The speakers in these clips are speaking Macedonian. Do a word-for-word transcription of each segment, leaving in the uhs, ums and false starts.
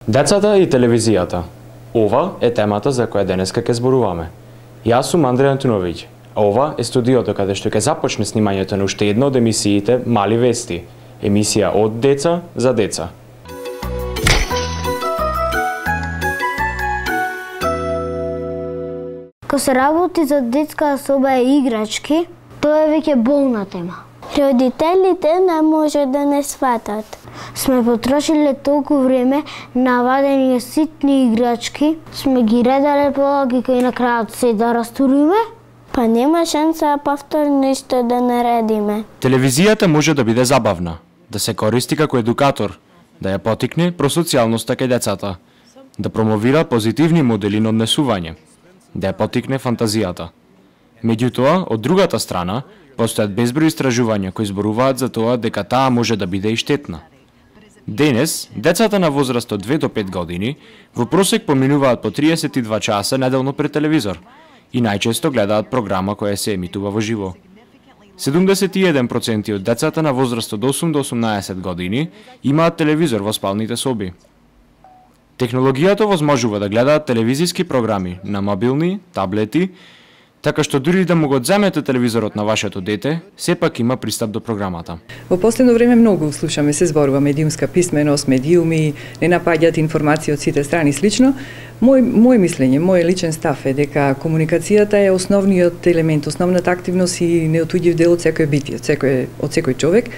Децата и телевизијата. Ова е темата за која денеска ќе зборуваме. Јас сум Андреј Антуновиќ. Ова е студиото каде што ќе започне снимањето на уште една од емисиите Мали вести, емисија од деца за деца. Кога се работи за детска соба и играчки, тоа е веќе болна тема. Родителите не може да не сватат. Сме потрошиле толку време на вадење ситни играчки, сме ги редале полаги и на крајот се да растуриме, па нема шанса повтор нешто да наредиме. Телевизијата може да биде забавна, да се користи како едукатор, да ја потикне просоцијалноста кај децата, да промовира позитивни модели на однесување, да ја потикне фантазијата. Меѓутоа, од другата страна, постојат безброј истражувања кои зборуваат за тоа дека таа може да биде и штетна. Денес, децата на возраст од две до пет години во просек поминуваат по триесет и два часа неделно пред телевизор и најчесто гледаат програма која се емитува во живо. седумдесет и еден проценти од децата на возраст од осум до осумнаесет години имаат телевизор во спалните соби. Технологијата возможува да гледаат телевизиски програми на мобилни, таблети, така што дури да му го земете телевизорот на вашето дете, сепак има пристап до програмата. Во последно време многу слушаме, се зборува медиумска писменост, медиуми, не напаѓаат информации од сите страни слично. Мој мој мислење, мој личен став е дека комуникацијата е основниот елемент, основната активност и неотуѓив дел од секој битие, од секој од секој човек.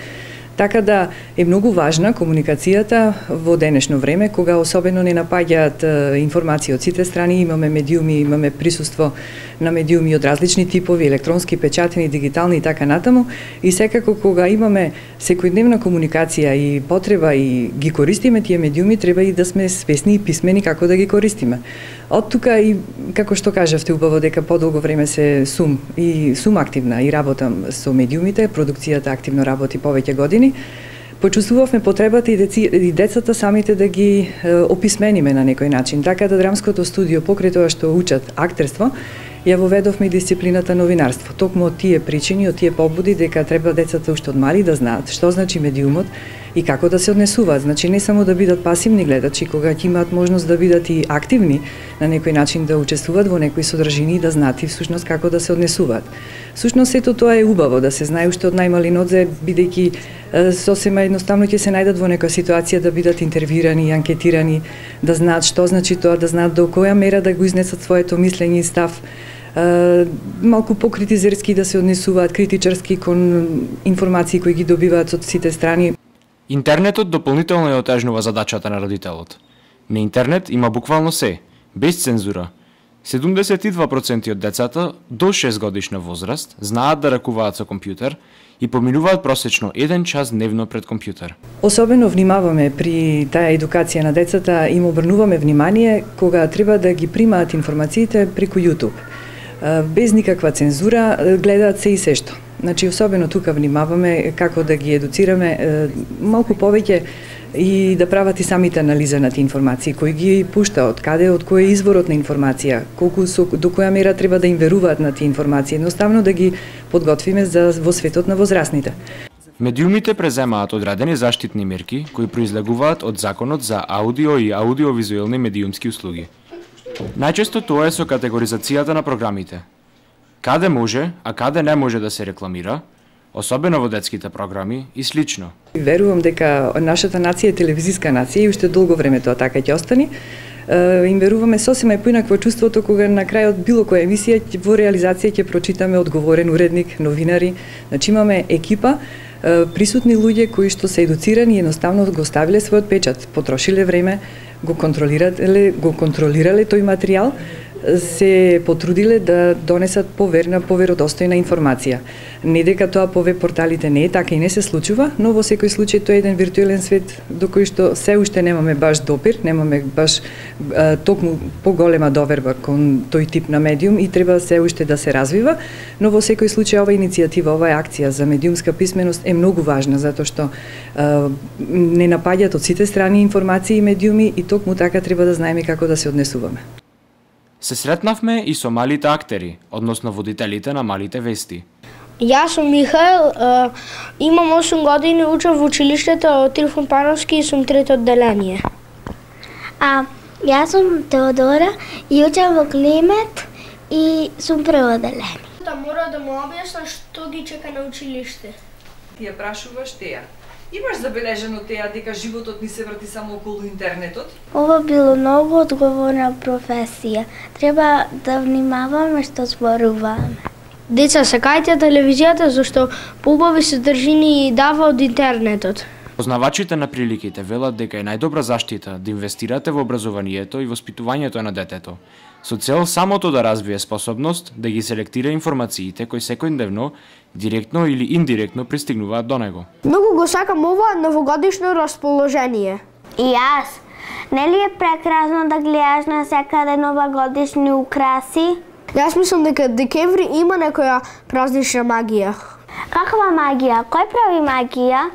Така да е многу важна комуникацијата во денешно време, кога особено не напаѓаат информации од сите страни, имаме медиуми, имаме присуство на медиуми од различни типови, електронски, печатени, дигитални и така натаму, и секако кога имаме секојдневна комуникација и потреба и ги користиме тие медиуми, треба и да сме свесни и писмени како да ги користиме. Од тука и како што кажавте убаво дека подолго време се сум и сум активна и работам со медиумите, продукцијата активно работи повеќе години. Почувствувавме потребата и, деци, и децата самите да ги е, описмениме на некој начин. Така да драмското студио, покрај тоа што учат актерство, ја воведовме дисциплината новинарство. Токму од тие причини, од тие побуди дека треба децата уште од мали да знаат што значи медиумот и како да се однесуваат. Значи не само да бидат пасивни гледачи, кога ќе имаат можност да бидат и активни на некој начин да учествуваат во некои содржини и да знаат и всушност како да се однесуваат. Всушност сето тоа е убаво да се знае уште од најмали нодзе, бидејќи сосема едноставно ќе се најдат во некоја ситуација да бидат интервјуирани, анкетирани, да знаат што значи тоа, да знаат до која мера да го изнесат своето мислење и став, малку покритизерски да се однесуваат, критичарски кон информации кои ги добиваат од сите страни. Интернетот дополнително ја отежнува задачата на родителот. На интернет има буквално се, без цензура. седумдесет и два проценти од децата до шест годишна возраст знаат да ракуваат со компјутер и поминуваат просечно еден час дневно пред компјутер. Особено внимаваме при таа едукација на децата, им обрнуваме внимание кога треба да ги примаат информациите преку YouTube. Без никаква цензура гледаат се и се што. Значи, особено тука внимаваме како да ги едуцираме малку повеќе и да прават и самите анализа на тие информации, кои ги пушта, од каде, од кој е изворот на информација, колку со, до која мера треба да им веруваат на тие информации, едноставно да ги подготвиме за во светот на возрастните. Медиумите преземаат одредени заштитни мерки кои произлегуваат од Законот за аудио и аудиовизуелни медиумски услуги. Најчесто тоа е со категоризацијата на програмите. Каде може, а каде не може да се рекламира, особено во детските програми и слично. Верувам дека нашата нација е телевизиска нација и уште долго време тоа така ќе остане. Им веруваме сосема и поинакво чувството кога на крајот било која емисија во реализација ќе прочитаме одговорен уредник, новинари. Значи имаме екипа, присутни луѓе кои што се едуцирани и едноставно го ставиле својот печат, потрошиле време, го контролирале, го контролирале тој материјал, се потрудиле да донесат поверна, поверодостојна информација. Не дека тоа по веб порталите не е така и не се случува, но во секој случај тоа е еден виртуелен свет до кој што се уште немаме баш допир, немаме баш а, токму поголема доверба кон тој тип на медиум и треба се уште да се развива, но во секој случај ова иницијатива, оваа акција за медиумска писменост е многу важна затоа што а, не напаѓаат од сите страни информации и медиуми и токму така треба да знаеме како да се однесуваме. Се сретнавме и со малите актери, односно водителите на малите вести. Јас сум Михаел, имам осум години, учам во училиштето од Трифон Пановски и сум трето одделение. А, јас сум Теодора и учам во Климет и сум преводелен. Да мора да му објасна што ги чека на училиште. Ти ја прашуваш Теја. Имаш забележано Теја дека животот ни се врти само околу интернетот? Ова било многу одговорна професија. Треба да внимаваме што зборуваме. Деца, сакајте телевизијата зашто поубави содржини дава од интернетот. Познавачите на приликите велат дека е најдобра заштита да инвестирате во образованието и воспитувањето на детето, со цел самото да развие способност да ги селектира информациите кои секојдневно, директно или индиректно пристигнуваат до него. Многу го сакам ова новогодишно расположение. И јас. Нели е прекрасно да гледаш на секаде новогодишни украси? Јас мислам дека декември има некоја празнична магија. Каква магија? Кој прави магија?